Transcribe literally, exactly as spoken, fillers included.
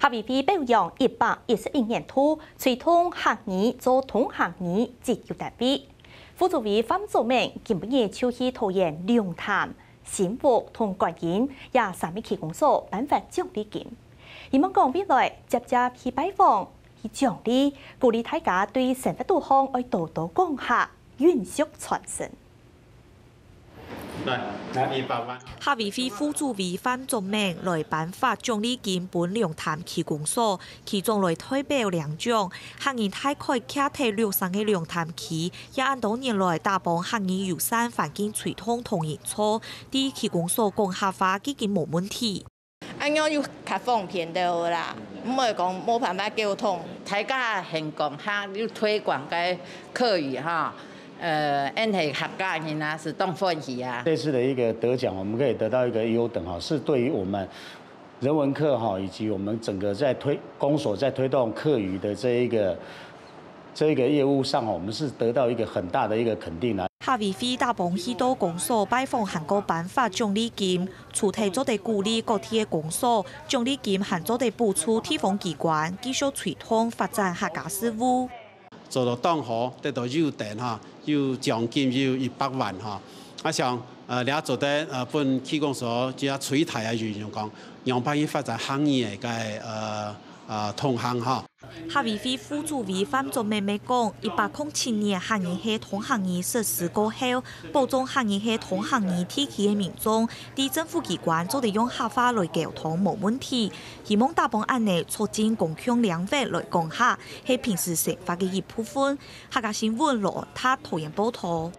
客委會表揚一百一十一年度推動客語做通行語績優單位。副主委范祖明今晡日就去桃園龍潭、新屋同觀音這三个區公所頒發獎勵金，希望講未來輒輒去拜訪、去獎勵，鼓勵大家對生活肚項愛多多講客，永續傳承。 來，來一百萬。客委會副主委范祖明來頒發獎勵金分龍潭區公所，其中來代表領獎，客人大概徛在六成个龍潭區，也恁多年來打幫客語友善環境推動同營造，在區公所講客話既經無問題。 恁樣又較方便兜啦，毋會講無辦法溝通。大家還講客，又推廣个客語哈，呃，恁係客家人啊，係當歡喜啊。這次的一個得獎，我們可以得到一個優等哈，是對於我們人文課哈，以及我們整個在推，公所在推動客語的這一個，這一個業務上哈，我們是得到一個很大的一個肯定啊。客委會打幫去到公所拜訪還過頒發獎勵金， 除忒做得鼓勵各地个公所，獎勵金還做得補助地方機關繼續推動發展客家事務。做到當好，得到優等哈，有獎金有一百萬哈。啊像，呃，這做得，呃，分區公所這最大个運用講，仰般去發展客語个，呃，呃，通行哈。 客委會副主委范祖明也講，一百空七年客語係通行語實施過後，保障客語係通行語地區个民眾，在政府機關做得用客話來溝通無問題。希望打幫恁呢促進公共領域來講客，係平時生活个一部分。客家新聞羅安達桃園報導。